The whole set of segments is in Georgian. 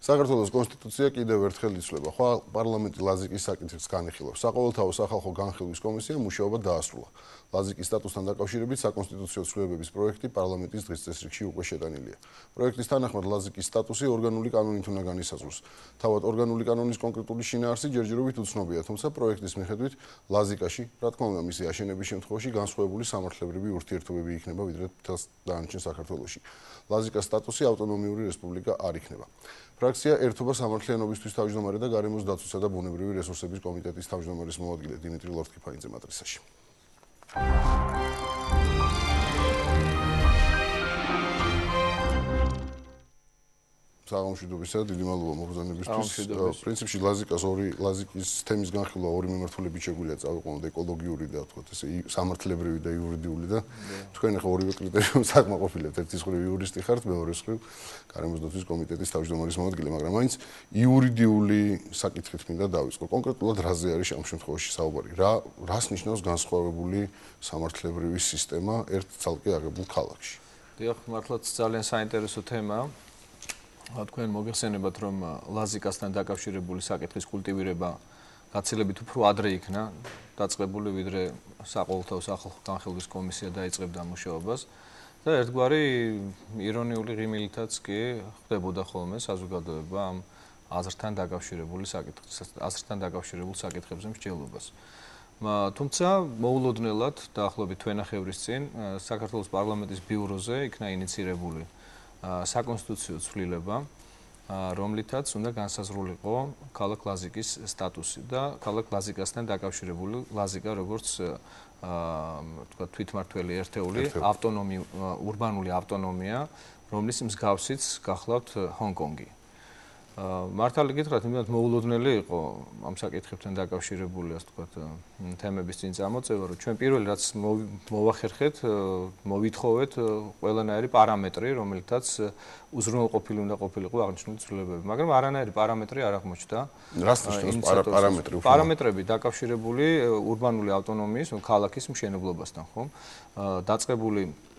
საქართველოს კონსტიტუცია კიდევ ერთხელ იცვლება. ხვალ პარლამენტი ლაზიკის საკითხს განიხილავს. საყოველთაო სახალხო განხილვის კომისიამ მუშაობა დაასრულა. ლაზიკის სტატუსთან დაკავშირებით საკონსტიტუციო ცვლილებების პროექტი პარლამენტის დღის წესრიგში უკვე შეტანილია. პროექტის თანახმად ლაზიკის სტატუსი ორგანული კანონით უნდა განისაზღვროს. თავად ორგანული კანონის კონკრეტული შინაარსი ჯერჯერობით უცნობია, თუმცა პროექტის მიხედვით ლაზიკაში, რა თქმა უნდა, მისი აშენების შემთხვევაში განსხვავებული სამართლებრივი ურთიერთობები იქნება ვიდრე მთელს დანარჩენ საქართველოში. ლაზიკას სტატუსი ავტონომიური რესპუბლიკა არ იქნება. ფრაქცია ერთობა სამართლიანობისთვის თავმჯდომარე და გარემოს დაცვისა და ბუნებრივი რესურსების კომიტეტის თავმჯდომარის მოადგილე დიმიტრი ლორთქიფანიძე მატრისაში. საღამოშვიდობისა, დიდი მადლობა მოგზაურობისთვის. პრინციპში ლაზიკის თემის განხილვა ორი მიმართულებით შეგვიძლია წავიყვანოთ, ეკოლოგიური და თქვათ ესე სამართლებრივი და იურიდიული და თქვენ ახლა ორივე კრიტერიუმს აკმაყოფილებთ. ერთის მხრივ იურისტი ხართ, მეორეს მხრივ გარემოს დაცვის კომიტეტის თავმჯდომარის მოადგილე, მაგრამ მაინც იურიდიული საკითხით მინდა დავიწყო. კონკრეტულად რაზე არის ამ შემთხვევაში საუბარი? რას ნიშნავს განსხვავებული სამართლებრივი სისტემა ერთ ცალკე აღებულ ქალაქში? დიახ, მართლაც ძალიან საინტერესო თემაა. თქვენ მოგეხსენებათ, რომ ლაზიკასთან დაკავშირებული საკითხის კულტივირება გაცილებით უფრო ადრე იქნა დაწყებული, ვიდრე საყოველთაო სახალხო განხილვის კომისია დაიწყებდა მუშაობას და ერთგვარი ირონიული ღიმილითაც კი ხდებოდა ხოლმე საზოგადოება ამ აზრთან დაკავშირებული საკითხებზე მსჯელობას. თუმცა მოულოდნელად დაახლოებით თვენახევრის წინ საქართველოს პარლამენტის ბიუროზე იქნა ინიცირებული საკონსტიტუციო ცვლილება, რომლითაც უნდა განსაზღვრულიყო ქალაქ ლაზიკის სტატუსი და ქალაქ ლაზიკასთან დაკავშირებული ლაზიკა როგორც თქვა თვითმმართველი ერთეული ურბანული ავტონომია, რომლის მსგავსიც გახლავთ ჰონკონგი. მართალი გითხრათ, იმდენად მოულოდნელი იყო ამ საკითხებთან დაკავშირებული, ასე ვთქვათ, თემების წინ წამოწევა, რომ ჩვენ პირველი რაც მოვახერხეთ, მოვითხოვეთ ყველანაირი პარამეტრი, რომელთაც უზრუნველყოფილი უნდა ყოფილიყო აღნიშნული ცვლილებები, მაგრამ არანაირი პარამეტრი არ აღმოჩნდა. რას ნიშნავს პარამეტრი? პარამეტრები დაკავშირებული ურბანული ავტონომიის, ქალაქის მშენებლობასთან, ხო? დაწყებული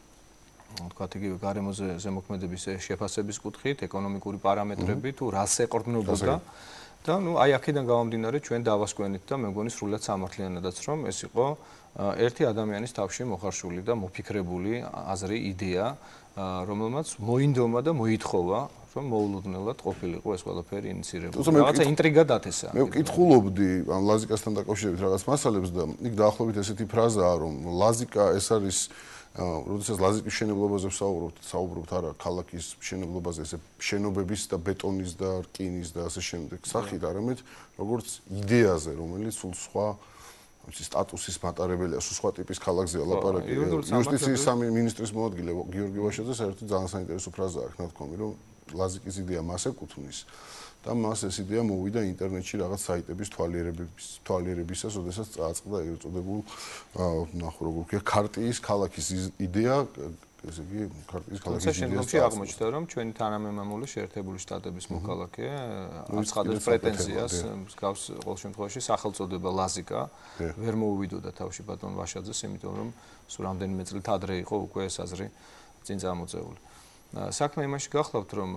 თქვათ იგივე გარემოზე ზემოქმედების შეფასების კუთხით, ეკონომიკური პარამეტრები თუ რას ეყრდნობოდა და აი აქედან გამომდინარე ჩვენ დავასკვენით და მე მგონი სრულად სამართლიანადაც რომ ეს იყო ერთი ადამიანის თავში მოხარშული და მოფიქრებული აზრი, იდეა, რომელმაც მოინდომა და მოითხოვა რომ მოულოდნელად ყოფილიყო ეს ყველაფერი ინიცირებული. რაღაცა ინტრიგა დათესა. მე ვკითხულობდი ამ ლაზიკასთან დაკავშირებით რაღაც მასალებს და იქ დაახლოებით ესეთი ფრაზაა რომ ლაზიკა ეს არის როდესაც ლაზიკის მშენებლობაზე საუბრობთ არა ქალაქის მშენებლობაზე, ესე შენობების და ბეტონის და რკინის და ასე შემდეგ სახით, არამედ როგორც იდეაზე, რომელიც სულ სხვა სტატუსის მატარებელია, სულ სხვა ტიპის ქალაქზეა ლაპარაკი. იუსტიციის სამინისტრის მოადგილე გიორგი ვაშაძე საერთოდ ძალიან საინტერესო ფრაზა აქვს ნათქვამი, რომ ლაზიკის იდეა მას ეკუთვნის და მას ეს იდეა მოვიდა ინტერნეტში რაღაც საიტების თვალიერებისას, როდესაც წააწყდა ეგრეთ წოდებულ ნახო როგორ ვქია ქარტიის ქალაქის იდეა, ესე იგი ქარტიის ქალაქის იდეა. შემდგომში აღმოჩნდა, რომ ჩვენი თანამემამული შეერთებული შტატების მოქალაქე აცხადებს პრეტენზიას მსგავს ყოველ შემთხვევაში სახელწოდება ლაზიკა ვერ მოუვიდოდა თავში ბატონ ვაშაძეს, იმიტომ რომ სულ რამდენიმე წლით ადრე იყო უკვე ეს აზრი წინ წამოწეული. საქმე იმაში გახლავთ, რომ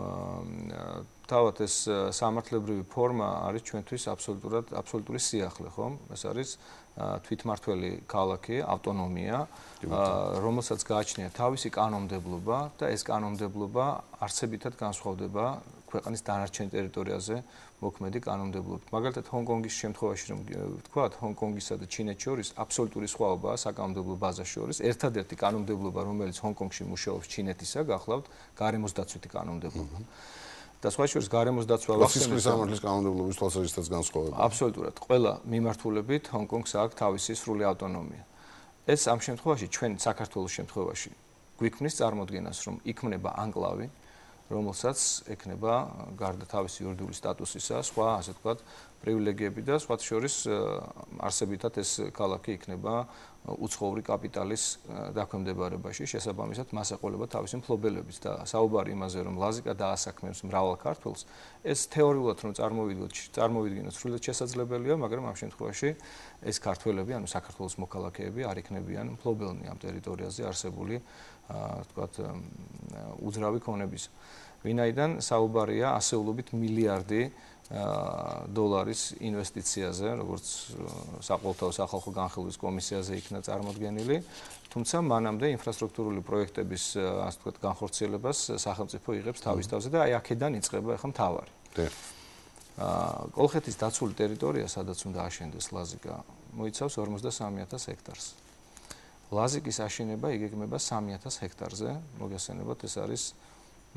თავად ეს სამართლებრივი ფორმა არის ჩვენთვის აბსოლუტური სიახლე, ხო? ეს არის თვითმმართველი ქალაქი, ავტონომია, რომელსაც გააჩნია თავისი კანონმდებლობა და ეს კანონმდებლობა არსებითად განსხვავდება ქვეყნის დანარჩენ ტერიტორიაზე მოქმედი კანონმდებლობით. მაგალითად, ჰონკონგის შემთხვევაში რომ ვთქვათ, ჰონკონგისა და ჩინეთს შორის აბსოლუტური სხვაობაა საკანონმდებლო ბაზას შორის. ერთადერთი კანონმდებლობა, რომელიც ჰონკონგში მუშაობს ჩინეთისა, გახლავთ გარემოს დაცვითი კანონმდებლობა. და სხვა შორის გარემოს დაცვა სისხლის სამართლის კანონმდებლობის თვალსაზრისითაც განსხვავება. აბსოლუტურად. ყველა მიმართულებით ჰონკონგს აქვს თავისი სრული ავტონომია. ეს ამ შემთხვევაში ჩვენ საქართველოს შემთხვევაში გვიქმნის წარმოდგენას, რომ იქმნება ანკლავი, რომელსაც ექნება გარდა თავისი იურიდიული სტატუსისა, სხვა ასე ვთქვათ, პრივილეგიები და სხვა შორის არსებითად ეს ქალაქი იქნება უცხოური კაპიტალის დაქვემდებარებაში, შესაბამისად მას ეყოლება თავისი მფლობელობით და საუბარი იმაზე, რომ ლაზიკა დაასაქმებს მრავალ ქართველს, ეს თეორიულად რომ წარმოვიდგინოთ, სრულად შესაძლებელია, მაგრამ ამ შემთხვევაში ეს ქართველები, ანუ საქართველოს მოქალაქეები არ იქნებიან მფლობელნი ამ ტერიტორიაზე არსებული, ვთქვათ, უძრავი ქონების. ვინაიდან საუბარია ასეულობით მილიარდი დოლარის ინვესტიციაზე, როგორც საყოველთაო სახალხო განხილვის კომისიაზე იქნა წარმოდგენილი, თუმცა მანამდე ინფრასტრუქტურული პროექტების, ასე ვთქვათ, განხორციელებას სახელმწიფო იღებს თავის თავზე და აი აქედან იწყება ახლა მთავარი. კოლხეთის დაცული ტერიტორია, სადაც უნდა აშენდეს ლაზიკა, მოიცავს 53000 ჰექტარს. ლაზიკის აშენება იგეგმება 3000 ჰექტარზე, მოგესალმებით, ეს არის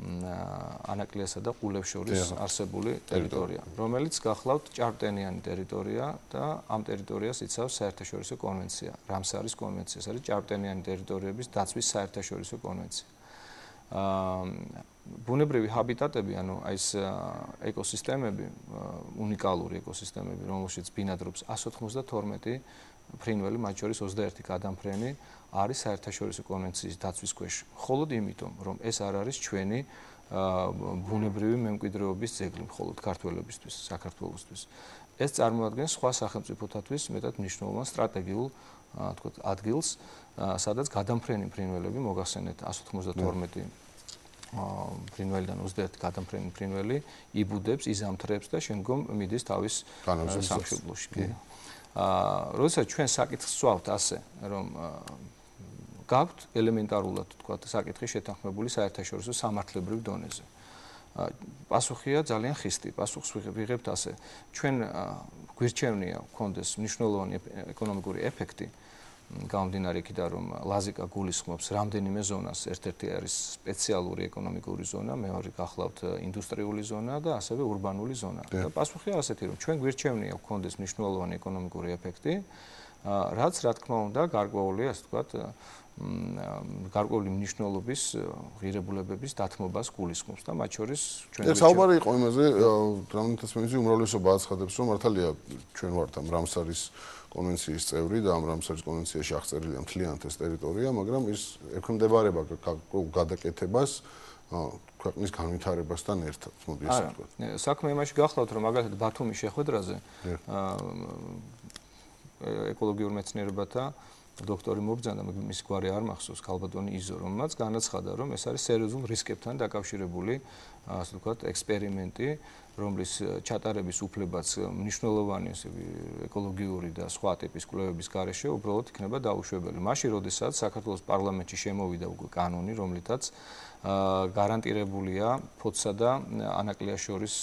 ანაკლიასა და ყულებს შორის არსებული ტერიტორია, რომელიც გახლავთ ჭარბტენიანი ტერიტორია და ამ ტერიტორიას იცავს საერთაშორისო კონვენცია, რამსარის კონვენცია, ეს არის ჭარბტენიანი ტერიტორიების დაცვის საერთაშორისო კონვენცია. ბუნებრივი ჰაბიტატები, ანუ აი ეს ეკოსისტემები, უნიკალური ეკოსისტემები, რომელშიც ბინადრობს 192 ფრინველი, მათ შორის 21 გადამფრენი არის საერთაშორისო კონვენციის დაცვის ქვეშ. მხოლოდ იმიტომ, რომ ეს არ არის ჩვენი ბუნებრივი მემკვიდრეობის ძეგლი, მხოლოდ ქართველებისთვის, საქართველოსთვის. ეს წარმოადგენს სხვა სახელმწიფოთათვის მეტად მნიშვნელოვან სტრატეგიულ, თქვათ, ადგილს, სადაც გადამფრენი ფრინველები, მოგახსენეთ 192 ფრინველიდან 21 გადამფრენი ფრინველი იბუდებს, იზამთრებს და შემდგომ მიდის თავის სამშობლოში. როდესაც ჩვენ საკითხს ვსვავთ ასე, რომ გაქვთ ელემენტარულად, თქვათ, საკითხი შეთანხმებული საერთაშორისო სამართლებრივ დონეზე. პასუხია ძალიან ხისტი, პასუხს ვიღებთ ასე. ჩვენ გვირჩევნია გქონდეს მნიშვნელოვანი ეკონომიკური ეფექტი, გამომდინარე იქიდან, რომ ლაზიკა გულისხმობს რამდენიმე ზონას, ერთ-ერთი არის სპეციალური ეკონომიკური ზონა, მეორე გახლავთ ინდუსტრიული ზონა და ასევე ურბანული ზონა. და პასუხია ასეთი, რომ ჩვენ გვირჩევნია გქონდეს მნიშვნელოვანი ეკონომიკური ეფექტი, რაც რა თქმა უნდა გარკვეული, ასე ვთქვათ, გარკვეული მნიშვნელობის ღირებულებების დათმობას გულისხმობს და მათ შორის ჩვენ საუბარი იყო იმაზე, რამდენადაც მე უმრავლესობა აცხადებს, რომ მართალია ჩვენ ვართ ამ რამსარის კონვენციის წევრი და ამ რამსარის კონვენციაში აღწერილია მთლიანად ეს ტერიტორია, მაგრამ ის ექვემდებარება გადაკეთებას ქვეყნის განვითარებასთან ერთად, მოდი ესე ვთქვათ. საქმე იმაში გახლავთ, რომ მაგალითად ბათუმის შეხვედრაზე ეკოლოგიურ მეცნიერებათა დოქტორი მობრძანა, მისი გვარი არ მახსოვს, ქალბატონი იზო, რომელმაც განაცხადა, რომ ეს არის სერიოზულ რისკებთან დაკავშირებული, ასე ვთქვათ, ექსპერიმენტი, რომლის ჩატარების უფლებაც მნიშვნელოვანი ეკოლოგიური და სხვა ტიპის კვლევების გარეშე უბრალოდ იქნება დაუშვებელი. მაშინ, როდესაც საქართველოს პარლამენტში შემოვიდა უკვე კანონი, რომლითაც გარანტირებულია ფოთსა და ანაკლიას შორის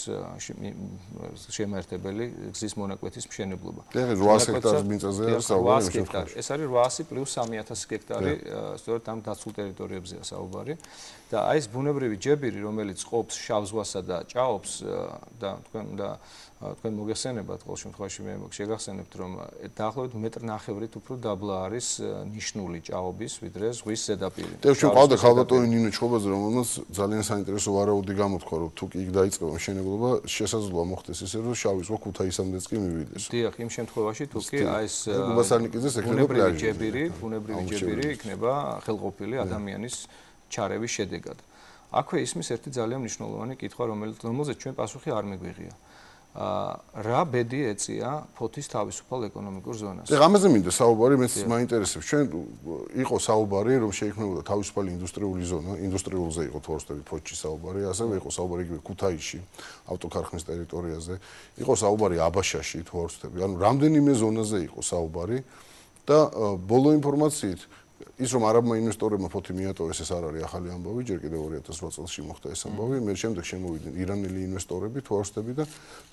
შემაერთებელი გზის მონაკვეთის მშენებლობა. ეს 800 ჰექტარის მიწაზე საუბარი. ეს არის 800 პლუს 3000 ჰექტარი, სწორედ ამ დაცულ ტერიტორიებზეა საუბარი. და აი ეს ბუნებრივი ჯებირი, რომელიც ყოფს შავ ზღვასა და ჭაობს და თქვენ მოგეხსენებათ, ყოველ შემთხვევაში მე შეგახსენებთ, რომ დაახლოებით 1.5 მეტრით უფრო დაბლა არის ნიშნული ჭაობის, ვიდრე ზღვის ზედაპირი. და ჩვენ ყავდა ქალბატონი ნინო ჩხობაძე, რომელმაც ძალიან საინტერესო ვარაუდი გამოთქვა, რომ თუ კი იქ დაიწყება მშენებლობა, შესაძლოა მოხდეს ისე, რომ შავი ზღვა ქუთაისამდეც კი მივიდეს. დიახ, იმ შემთხვევაში თუ კი აი ეს გუბასარნიკიძეს ექნება ბუნებრივი ჯებირი იქნება ხელყოფილი ადამიანის ჩარევის შედეგად. აქვე ისმის ერთი ძალიან მნიშვნელოვანი კითხვა, რომელზეც ჩვენ პასუხი არ მეგვიღია. რა ბედი ეწია ფოთის თავისუფალ ეკონომიკურ ზონას. ამაზე მინდა საუბარი, მეც მაინტერესებს. ჩვენ იყო საუბარი, რომ შეიქმნებოდა თავისუფალი ინდუსტრიული ზონა, ინდუსტრიულზე იყო თორსტები ფოთში საუბარი, ასევე იყო საუბარი იგივე ქუთაისში, ავტოქარხნის ტერიტორიაზე, იყო საუბარი აბაშაში თორსტები, ანუ რამდენიმე ზონაზე იყო საუბარი და ბოლო ინფორმაციით ის რომ არაბმა ინვესტორებმა ფოთი მიატოვეს, ეს არ არის ახალი ამბავი, ჯერ კიდევ 2008 წელს მოხდა ეს ამბავი, მე შემდეგ შემოვიდნენ ირანელი ინვესტორები, თვარსტები და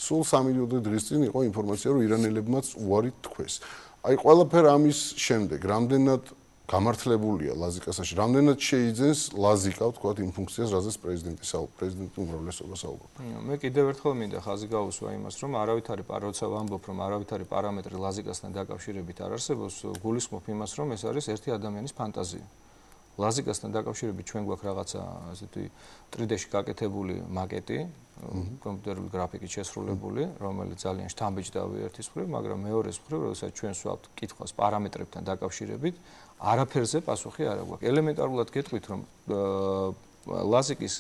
სულ 3 დღის წინ იყო ინფორმაცია, რომ ირანელებმაც უარი თქვეს. აი ყველაფერ ამის შემდეგ, რამდენად გამართლებულია ლაზიკასაში, რამდენად შეიძენს ლაზიკა, ვთქვათ, იმ ფუნქციას, რაზეც პრეზიდენტი უმრავლესობა საუბრობს. მე კიდევ ერთხელ მინდა ხაზი გავუსვა იმას, რომ არავითარი როცა ვამბობ, რომ არავითარი პარამეტრი ლაზიკასთან დაკავშირებით არ არსებობს, გულისხმობ იმას, რომ ეს არის ერთი ადამიანის ფანტაზია. ლაზიკასთან დაკავშირებით ჩვენ გვაქვს რაღაცა ასეთი 3D-ში გაკეთებული მაკეტი, კომპიუტერული გრაფიკით შესრულებული, რომელიც ძალიან შთამბეჭდავია ერთის მხრივ, მაგრამ მეორეს მხრივ, როდესაც ჩვენ ვსვავთ კითხვას პარამეტრებთან დაკავშირებით, არაფერზე პასუხი არ აქვს. ელემენტარულად გეტყვით, რომ ლაზიკის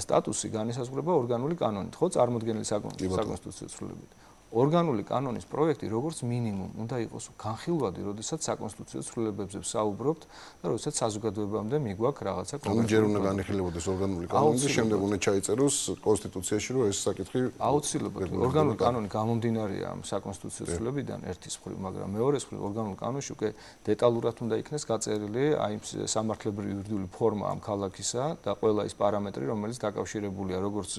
სტატუსი განისაზღვრება ორგანული კანონით, ხო, წარმოდგენილი საკონსტიტუციო ცვლილებით. ორგანული კანონის პროექტი როგორც მინიმუმ უნდა იყოს განხილვადი, როდესაც საკონსტიტუციო ცვლილებებზე ვსაუბრობთ და როდესაც საზოგადოებამდე მიგვაქვს რაღაცა კონკრეტული. ჯერ უნდა განიხილებოდეს ორგანული კანონი და შემდეგ უნდა ჩაიწეროს კონსტიტუციაში, რომ ეს საკითხი აუცილებლად ორგანული კანონი გამომდინარეა ამ საკონსტიტუციო ცვლილებიდან ერთის მხრივ, მაგრამ მეორეს მხრივ ორგანულ კანონში უკვე დეტალურად უნდა იქნეს გაწერილი აი სამართლებრივი იურიდიული ფორმა ამ ქალაქისა და ყველა ის პარამეტრი, რომელიც დაკავშირებულია როგორც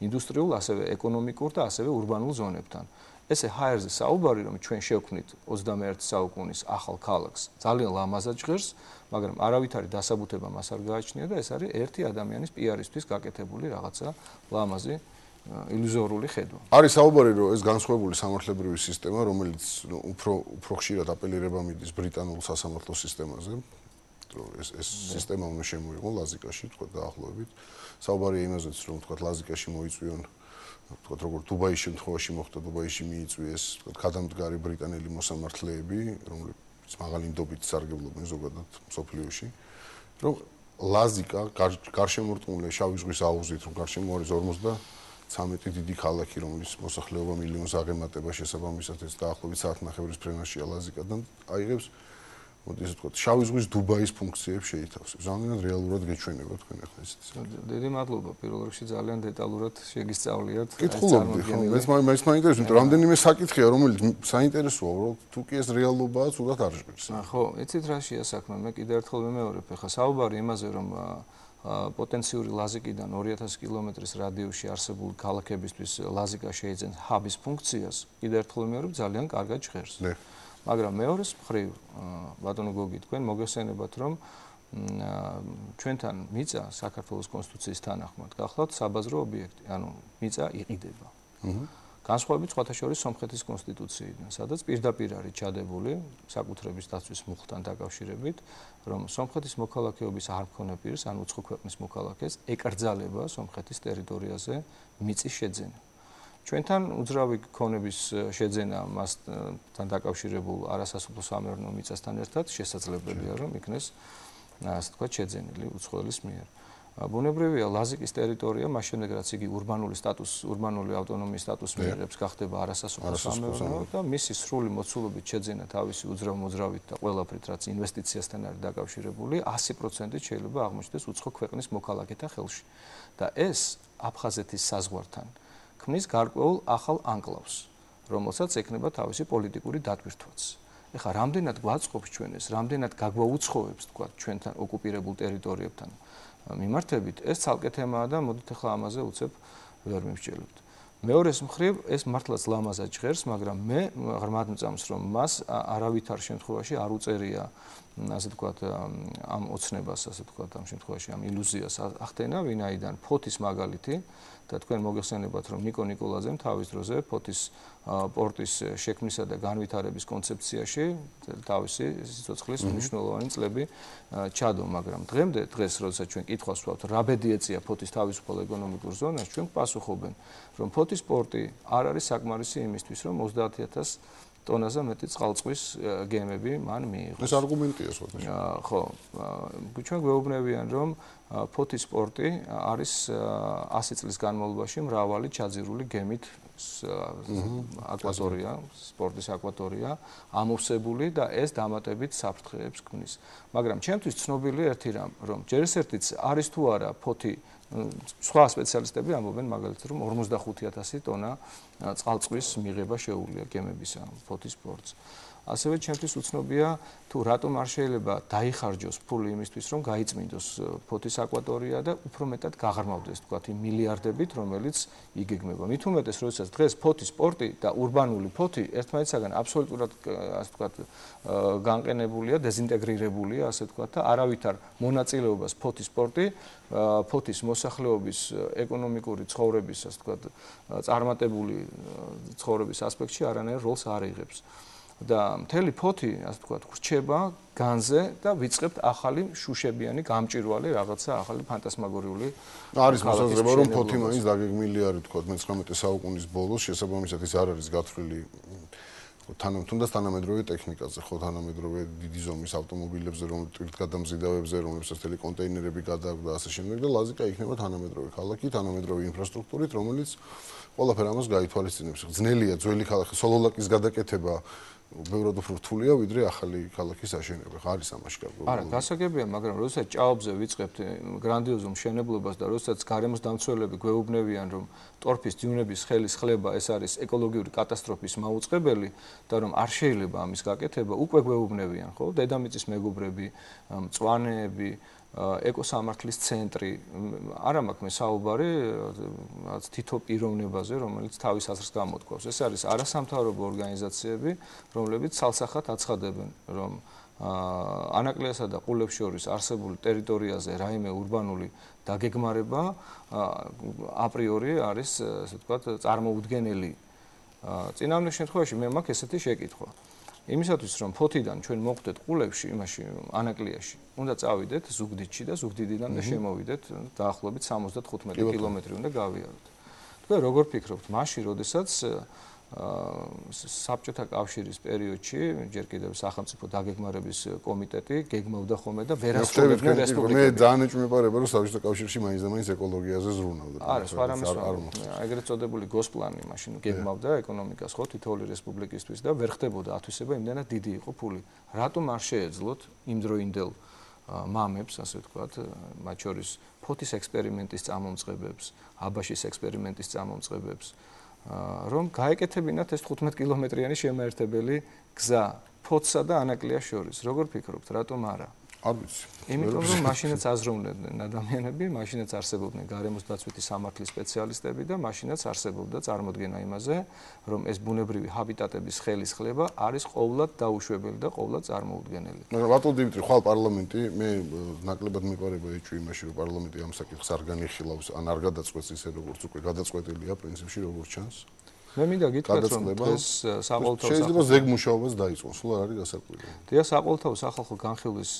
ინდუსტრიულ, ასევე ეკონომიკურ და ასევე ურბანულ ზონებთან. ესე ჰაერზე საუბარი, რომ ჩვენ შევქმნით 21 საუკუნის ახალ ქალაქს, ძალიან ლამაზად ჟღერს, მაგრამ არავითარი დასაბუთება მას არ გააჩნია და ეს არის ერთი ადამიანის პიარისთვის გაკეთებული რაღაცა ლამაზი ილუზორული ხედვა. არის საუბარი, რომ ეს განსხვავებული სამართლებრივი სისტემა, რომელიც უფრო ხშირად აპელირება მიდის ბრიტანულ სასამართლო სისტემაზე, რომ ეს სისტემა უნდა შემოიღო ლაზიკაში, თქვა დაახლოებით. საუბარია იმაზეც, რომ თქვა ლაზიკაში მოიწვიონ თქვა როგორ დუბაის შემთხვევაში მოხდა, დუბაიში მიიწვიეს თქვა გადამდგარი ბრიტანელი მოსამართლეები, რომლებიც მაღალი ნდობით სარგებლობენ ზოგადად მსოფლიოში, რომ ლაზიკა გარშემორტყმული შავი ზღვის აუზით, რომ გარშემო არის 53 დიდი ქალაქი, რომლის მოსახლეობა მილიონს აღემატება, შესაბამისად ეს დაახლოებით საათნახევრის ფრენაშია ლაზიკადან აიღებს მოდი ესე ვთქვათ, შავი ზღვის დუბაის ფუნქციებს შეითავსებს. Ძალიან რეალურად გეჩვენება თქვენ ახლა ისიც. დიდი მადლობა პირველ რიგში ძალიან დეტალურად შეგისწავლიათ. კითხულობდი, ხო, მეც მაინტერესებს, რამდენიმე საკითხია, რომელიც საინტერესოა, რომ თუ კი ეს რეალობაა, თუდად არ ჟღერს. ხო, იცით რა შეა საქმე, მე კიდევ ერთხელ ვიმეორებ, ახლა საუბარი იმაზე, რომ პოტენციური ლაზიკიდან 2000 კილომეტრის რადიუსში არსებული ქალაქებისთვის ლაზიკა შეიძენს ჰაბის ფუნქციას, კიდევ ერთხელ ვიმეორებ, ძალიან კარგად ჟღერს. მაგრამ მეორეს მხრივ, ბატონო გოგი, თქვენ მოგეხსენებათ, რომ ჩვენთან მიწა საქართველოს კონსტიტუციის თანახმად გახლავთ საბაზრო ობიექტი, ანუ მიწა იყიდება. განსხვავებით სხვათა შორის სომხეთის კონსტიტუციიდან, სადაც პირდაპირ არის ჩადებული საკუთრების დაცვის მუხლთან დაკავშირებით, რომ სომხეთის მოქალაქეობის არ მქონე პირს, ან უცხო ქვეყნის მოქალაქეს ეკრძალება სომხეთის ტერიტორიაზე მიწის შეძენა. ჩვენთან უძრავი ქონების შეძენა მასთან დაკავშირებულ არასასოფლო სამეურნეო მიწასთან ერთად შესაძლებელია, რომ იქნეს ასე ვთქვათ შეძენილი უცხოელის მიერ. ბუნებრივია ლაზიკის ტერიტორია, მას შემდეგ რაც იგი ურბანული ავტონომიის სტატუსს მიიღებს, გახდება არასასოფლო სამეურნეო და მისი სრული მოცულობით შეძენა თავისი უძრავ-მოძრავით და ყველაფრით, რაც ინვესტიციასთან არის დაკავშირებული, 100%-ით შეიძლება აღმოჩნდეს უცხო ქვეყნის მოქალაქეთა ხელში. და ეს აფხაზეთის საზღვართან ქმნის გარკვეულ ახალ ანკლავს, რომელსაც ექნება თავისი პოლიტიკური დატვირთვაც. ეხლა რამდენად გვაწყობს ჩვენ ეს, რამდენად გაგვაუცხოებს, თქვა, ჩვენთან ოკუპირებულ ტერიტორიებთან მიმართებით, ეს ცალკე თემაა და მოდით ახლა ამაზე უცებ ვერ მივსჯელებთ. მეორეს მხრივ, ეს მართლაც ლამაზად ჟღერს, მაგრამ მე ღრმად მწამს, რომ მას არავითარ შემთხვევაში არ უწერია, ასე ვთქვათ, ამ ოცნებას, ასე ვთქვათ, ამ შემთხვევაში ამ ილუზიას ახდენა, ვინაიდან ფოთის მაგალითი და თქვენ მოგეხსენებათ, რომ ნიკო ნიკოლაძემ თავის დროზე ფოთის პორტის შექმნისა და განვითარების კონცეფციაში თავისი სიცოცხლის მნიშვნელოვანი წლები ჩადო, მაგრამ დღეს, როდესაც ჩვენ კითხვას ვსვავთ, რა ბედი ეწია ფოთის თავისუფალ ეკონომიკურ ზონას, ჩვენ პასუხობენ, რომ ფოთის პორტი არ არის საკმარისი იმისთვის, რომ 30,000 ტონაზე მეტი წყალწვის გემები მან მიიღოს. ეს არგუმენტია სხვათა. ხო, ჩვენ გვეუბნებიან, რომ ფოთის პორტი არის 100 წლის განმავლობაში მრავალი ჩაძირული გემით აკვატორია, სპორტის აკვატორია, ამოვსებული და ეს დამატებით საფრთხეებს ქმნის. მაგრამ ჩემთვის ცნობილი ერთი რამ, რომ ჯერ ესერთიც არის თუ არა ფოთი სხვა სპეციალისტები ამბობენ მაგალითად, რომ 45,000 ტონა წყალწვის მიღება შეუძლია გემებისა ფოთის პორტს. ასევე ჩემთვის უცნობია თუ რატომ არ შეიძლება დაიხარჯოს ფული იმისთვის, რომ გაიწმინდოს ფოთის აკვატორია და უფრო მეტად გაღრმავდეს, თქვათ, იმ მილიარდებით, რომელიც იგეგმება. მით უმეტეს, როდესაც დღეს ფოთის პორტი და ურბანული ფოთი ერთმანეთისაგან აბსოლუტურად, ასე ვთქვათ, განყენებულია, დეზინტეგრირებულია, ასე ვთქვათ, და არავითარ მონაწილეობას ფოთის პორტი, ფოთის მოსახლეობის ეკონომიკური ცხოვრების, ასე ვთქვათ, წარმატებული ცხოვრების ასპექტში არანაირ როლს არ იღებს. და მთელი ფოთი, ასე ვთქვათ, ხრჩება განზე და ვიწყებთ ახალი შუშებიანი გამჭვირვალე რაღაცა ახალი ფანტასმაგორიული არის მოსაზრება, რომ ფოთი მაინც დაგეგმილი არის, თქვათ, 19 საუკუნის ბოლოს, შესაბამისად ის არ არის გათვლილი თუნდაც თანამედროვე ტექნიკაზე, ხო, თანამედროვე დიდი ზომის ავტომობილებზე, ტვირთგადამზიდავებზე, რომლებსაც მთელი კონტეინერები გადააქვს და ასე შემდეგ და ლაზიკა იქნება თანამედროვე ქალაქი, თანამედროვე ინფრასტრუქტურით, რომელიც ყველაფერ ამას გაითვალისწინებს. ძნელია ძველი ქალაქის სოლოლაკის გადაკეთება ბევრად უფრო რთულია, ვიდრე ახალი ქალაქის აშენება. არის ამაში გარკვეული. არა, გასაგებია, მაგრამ როდესაც ჭაობზე ვიწყებთ გრანდიოზულ მშენებლობას და როდესაც გარემოს დამცველები გვეუბნებიან, რომ ტორფის დიუნების ხელის ხლება ეს არის ეკოლოგიური კატასტროფის მაუწყებელი და რომ არ შეიძლება ამის გაკეთება, უკვე გვეუბნებიან, ხო? დედამიწის მეგობრები, მწვანეები, ეკოსამართლის ცენტრი, არა მაქვს მე საუბარი რაღაც თითო პიროვნებაზე, რომელიც თავის აზრს გამოთქვავს. ეს არის არასამთავრობო ორგანიზაციები, რომლებიც ცალსახად აცხადებენ, რომ ანაკლიასა და ყულებს შორის არსებული ტერიტორიაზე რაიმე ურბანული დაგეგმარება აპრიორი არის, ასე ვთქვათ, წარმოუდგენელი. წინააღმდეგ შემთხვევაში მე მაქვს ესეთი შეკითხვა. იმისათვის რომ ფოთიდან ჩვენ მოხვდეთ ყულებში, იმაში ანაკლიაში, უნდა წავიდეთ ზუგდიდში და ზუგდიდიდან და შემოვიდეთ დაახლოებით 75 კილომეტრი უნდა გავიაროთ. თქვენ როგორ ფიქრობთ, მაშინ როდესაც საბჭოთა კავშირის პერიოდში ჯერ კიდევ სახელმწიფო დაგეგმარების კომიტეტი გეგმავდა ხოლმე და ვერასრულებდნენ რესპუბლიკები. მე ძალიან ეჭვმეპარება რომ საბჭოთა კავშირში მაინც ეკოლოგიაზე ზრუნავდა. არა, სხვა რამის ეგრეთ წოდებული გოსპლანი მაშინ გეგმავდა ეკონომიკას ხო თითოეული რესპუბლიკისთვის და ვერ ხდებოდა ათვისება, იმდენად დიდი იყო ფული. რატომ არ შეეძლოთ იმდროინდელ მამებს, ასე ვთქვათ, მათ შორის ფოთის ექსპერიმენტის წამომწყებებს, აბაშის ექსპერიმენტის წამომწყებებს, რომ გაეკეთებინათ ეს 15 კილომეტრიანი შემაერთებელი გზა ფოთსა და ანაკლიას შორის. როგორ ფიქრობთ, რატომ არა? არ ვიცი. იმიტომ რომ მაშინაც აზროვნებდნენ ადამიანები, მაშინაც არსებობდნენ გარემოს დაცვითი სამართლის სპეციალისტები და მაშინაც არსებობდა წარმოდგენა იმაზე, რომ ეს ბუნებრივი ჰაბიტატების ხელის ხლება არის ყოვლად დაუშვებელი და ყოვლად წარმოუდგენელი. მაგრამ ბატონ დიმიტრი, ხვალ პარლამენტი, მე ნაკლებად მეპარება ეჭვი იმაში, რომ პარლამენტი ამ საკითხს არ განიხილავს, ან არ გადაწყვეტს ისე, როგორც უკვე გადაწყვეტილია პრინციპში, როგორც ჩანს. მე მინდა გითხრათ, რომ ეს საყოველთაო შეიძლება ზეგმუშაობას დაიწყოს, სულ არ არის გასაკვირი. დიახ, საყოველთაო სახალხო განხილვის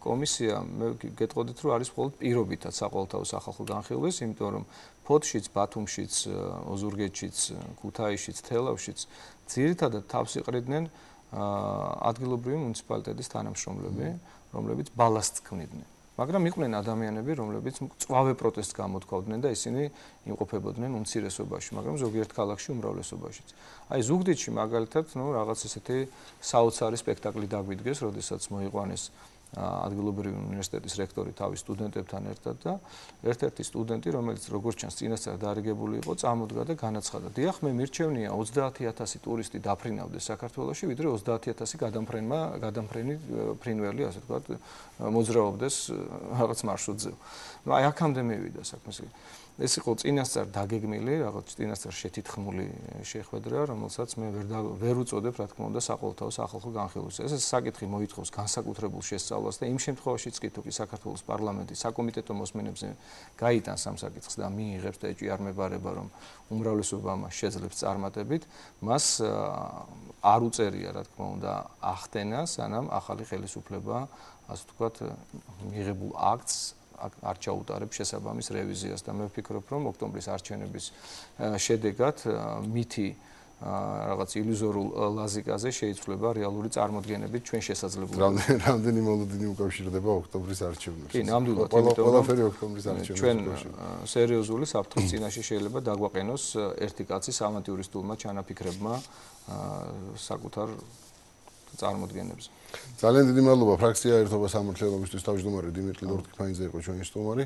კომისია, მე გეტყოდით, რომ არის მხოლოდ პირობითად საყოველთაო სახალხო განხილვის, იმიტომ რომ ფოთშიც, ბათუმშიც, ოზურგეთშიც, ქუთაისშიც, თელავშიც ძირითადად თავს იყრიდნენ ადგილობრივი მუნიციპალიტეტის თანამშრომლები, რომლებიც ბალასტს ქმნიდნენ. მაგრამ იყვნენ ადამიანები, რომლებიც მწვავე პროტესტს გამოთქვავდნენ და ისინი იმყოფებოდნენ უმცირესობაში, მაგრამ ზოგიერთ ქალაქში უმრავლესობაშიც. აი ზუგდიდში მაგალითად, რაღაც ესეთი საოცარი სპექტაკლი დაგვიდგეს, როდესაც მოიყვანეს ადგილობრივი უნივერსიტეტის რექტორი თავის სტუდენტებთან ერთად და ერთ-ერთი სტუდენტი, რომელიც როგორც ჩანს წინასწარ დარიგებული იყო, წამოდგა და განაცხადა: "დიახ, მე მირჩევნია 30,000 ტურისტი დაფრინავდეს საქართველოში, ვიდრე 30,000 გადამფრენი ფრინველი, ასე ვთქვათ, მოძრაობდეს რაღაც მარშრუტზე." აი აქამდე მივიდა საქმე. ეს იყო წინასწარ დაგეგმილი, რაღაც წინასწარ შეთითხმული შეხვედრა, რომელსაც მე ვერ უწოდებ, რა თქმა უნდა, საყოველთაო სახალხო განხილვას. ეს საკითხი მოითხოვს განსაკუთრებულ შესწავლას და იმ შემთხვევაშიც კი თუ კი საქართველოს პარლამენტი საკომიტეტო მოსმენებზე გაიტანს ამ საკითხს და მიიღებს და ეჭვი არ მებარება, რომ უმრავლესობა მას შეძლებს წარმატებით, მას არ უწერია, რა თქმა უნდა, ახდენა, სანამ ახალი ხელისუფლება, ასე ვთქვათ, მიღებულ აქტს არ ჩაუტარებს შესაბამის რევიზიას და მე ვფიქრობ, რომ ოქტომბრის არჩევნების შედეგად მითი რაღაც ილუზორულ ლაზიკაზე შეიცვლება რეალური წარმოდგენებით ჩვენ შესაძლებლობები. რამდენი მოლოდინი უკავშირდება ოქტომბრის არჩევნებს? კი, ნამდვილად, ყველაფერი ოქტომბრის არჩევნებს. ჩვენ სერიოზული საფრთხის წინაშე შეიძლება დაგვაყენოს ერთი კაცის ავანტიურისტულმა ჩანაფიქრებმა საკუთარ წარმოდგენებზე. ძალიან დიდი მადლობა ფრაქცია ერთობა სამართლიანობისთვის თავმჯდომარე დიმიტრი ლორთქიფანიძე იყო ჩვენი სტუმარი.